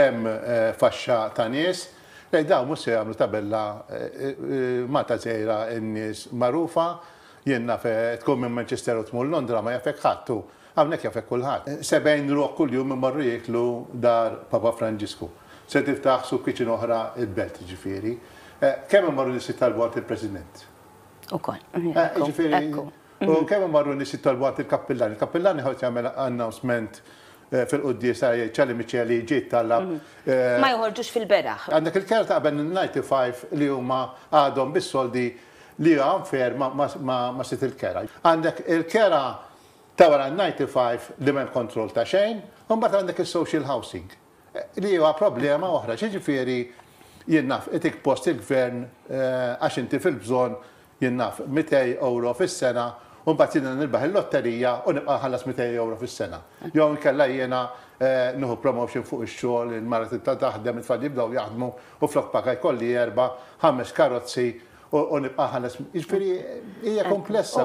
Hemm faxxa ta' nies, li dawn mhux se jagħmlu tabella Malta żgħira n-nies magħrufa, jien naf tkun minn Manchester u tmur Londra ma jafek ħadd u hawnhekk jafek kulħadd. 70 ruħ kuljum imorru jieklu dar Papa Franġisku. Se tiftaħ soup kitchen oħra l-Belt jiġifieri. Kemm imorru nies jittalbu għand il-President? Ukoll. Jiġifieri. U kemm imorru nies jitolbu għand il-kappillan. Il-kappillan iħoss jagħmel announcement fil-quddiesa jgħid Ċali Miċeli ġie tallab. Ma joħorġux fil-beraħ. Għandek il-kera ta' qabel 95 li huma għadhom bis-soldi li huwa unfair ma' sid il-kera. Għandek il-kera ta' wara 95 li m'hemm kontroll ta' xejn, u mbagħad għandek is-social housing. Li huwa problema oħra, x'jiġifieri jien naf itik post il-gvern għax inti fil-bżonn jien naf 200 ewro fis-sena u mbagħad jiena nirbaħ il-lotterija u nibqa' nħallas 200 ewro fis-sena. Jew inkella jiena nieħu promotion fuq ix-xogħol, il-mara tibda taħdem, it-tfal jibdew jaħdmu u flok paga jkolli erba', ħames karozzi u nibqa' nħallas. Jiġifieri hija komplessa.